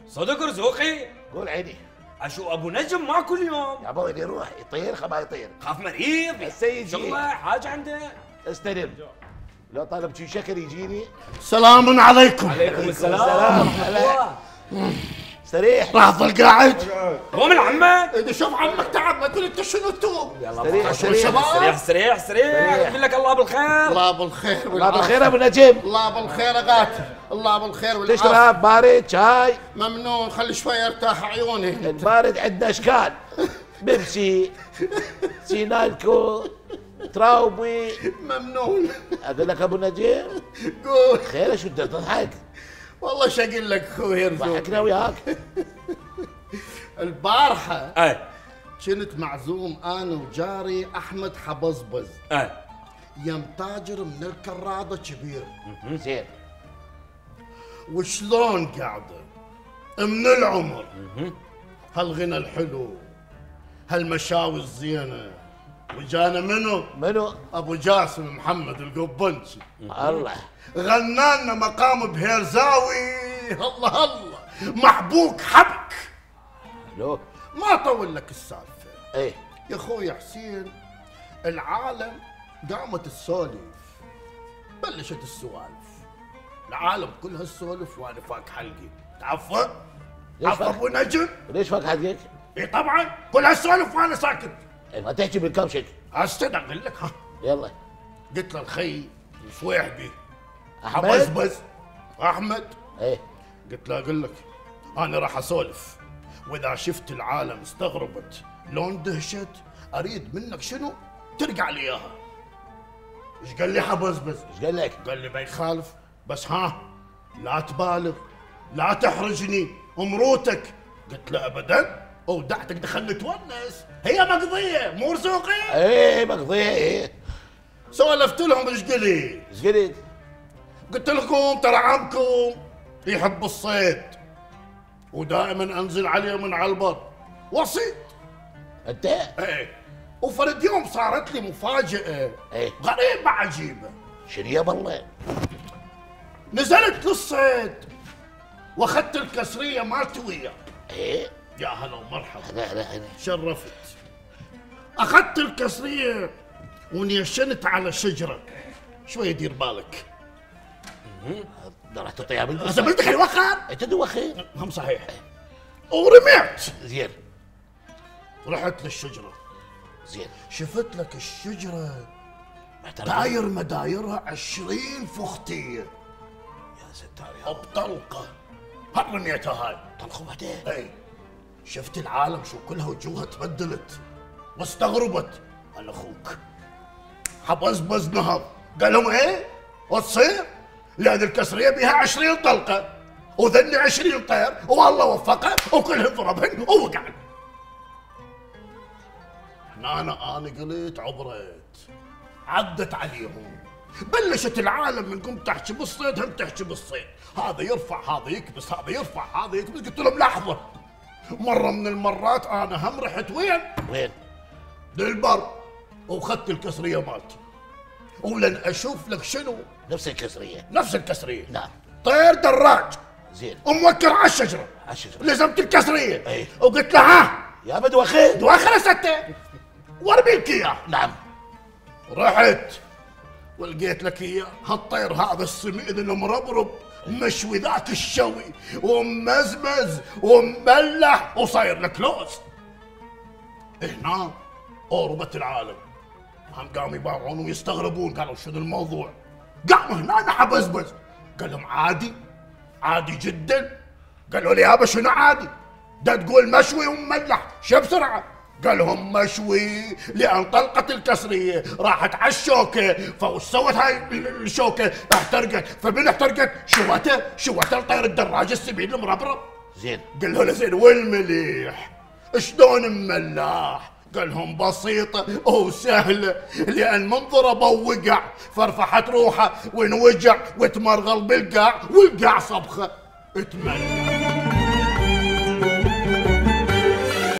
صدق رزوقي؟ قول عيني. اشو ابو نجم ما كل يوم؟ يا ابوي يروح يطير ما يطير. خاف مريض السيد شغله حاجه عنده. استلم. لو طلب شي شكل يجيني. سلام عليكم. عليكم السلام. استريح. راح اظل قاعد. قوم من عمك. اذا شوف عمك تعب ما تقول انت شنو توم. استريح استريح استريح استريح. يقول لك الله بالخير. الله بالخير. الله بالخير ابو نجم. الله بالخير غاتي. الله بالخير والعافيه. تشرب بارد شاي؟ ممنون خلي شوي ارتاح عيوني. البارد عندنا اشكال. بيبسي سينالكو تراوبي. ممنون. اقول لك ابو نجم. قول. خير شو تضحك؟ والله شو اقول لك اخوي يرزق. ضحكنا وياك. البارحه اي كنت معزوم انا وجاري احمد حبزبز اي يم تاجر من الكراده كبير. زين. وشلون قاعده من العمر هالغنى الحلو هالمشاوي الزينه. وجانا منو؟ ابو جاسم محمد القبنشي. الله. غنانا مقام بهيرزاوي. الله الله محبوك حبك. الو. ما طول لك السالفه. ايه يا اخوي حسين العالم قامت تسولف. بلشت السوالف. العالم كلها السولف وانا فاك حلقي. تعفى؟ عفى ابو نجم؟ ليش فاك حقك؟ اي طبعا كل هالسوالف وانا ساكت. ما تحكي بالكبشك. استنى اقول لك. ها يلا. قلت له الخي الصويحبي احمد. حبزبز احمد. ايه قلت له اقول لك انا راح اسولف واذا شفت العالم استغربت لون دهشت اريد منك شنو؟ ترجع لي اياها. ايش قال لي حبزبز؟ ايش قال لك؟ قال لي ما يخالف بس ها لا تبالغ لا تحرجني امروتك. قلت له ابدا اودعتك دخلت تونس هي مقضيه مو رزوقي. ايه مقضيه ايه. سولفت لهم ايش قلت؟ ايش قلت؟ قلت لكم ترى عمكم يحب الصيد ودائما انزل عليه من على البر وصيد. انت؟ ايه وفرد يوم صارت لي مفاجأة ايه غريبة عجيبة. شنو يا بالله؟ نزلت للصيد واخذت الكسرية مالتي وياه. ايه يا هلا ومرحبا. هلا شرفت. اخذت الكسرية ونيشنت على شجرة. شوي دير بالك. راح تعطيها بنت. زبلتك الوخر. انت دوخي. هم صحيح. ورميت. زين. رحت للشجرة. زين. شفت لك الشجرة محترم. داير مدايرها 20 فختية. يا ستار يا بطلقة. هل رميتها هاي؟ طلقوا بعدين. اي شفت العالم شو كلها وجوهها تبدلت واستغربت. انا اخوك حبزبز نهض قال لهم ايه وتصير لان الكسريه بها 20 طلقه وذني 20 طير والله وفقه وكلهم ضربهن ووقعن. انا قلت عبرت عدت عليهم. بلشت العالم من قمت تحكي بالصيد هم تحكي بالصيد. هذا يرفع هذا يكبس هذا يرفع هذا يكبس. قلت لهم لحظه. مره من المرات انا هم رحت وين؟ للبر واخذت الكسريه مالتي ولن اشوف لك شنو نفس الكسريه. نفس الكسريه. نعم. طير دراج. زين. وموكر على الشجره. على الشجره. لزمت الكسريه. ايه. وقلت له ها يا بدوخي. دواخر ستة وارمي لك اياه. نعم. رحت ولقيت لك اياه هالطير هذا السمين المربرب مشوي ذاك الشوي وممزمز ومملح وصاير لك لوز. هنا اوربت العالم هم قاموا يباوعون ويستغربون. قالوا شنو الموضوع؟ قاموا هنا حبزبز. قال لهم عادي جدا. قالوا لي يابا شنو عادي؟ ده تقول مشوي ومملح شو بسرعه؟ قال لهم مشوي لان طلقت الكسريه راحت على الشوكه فوش سوت هاي الشوكه احترقت. فمن احترقت؟ شوته الطير الدراج السمين المربرب. زين. قال له زين والمليح شلون مملاح؟ قال لهم بسيطة وسهلة لأن من ضربه وقع فرفحت روحه وانوجع وتمرغل بالقاع والقاع صبخة اتملى.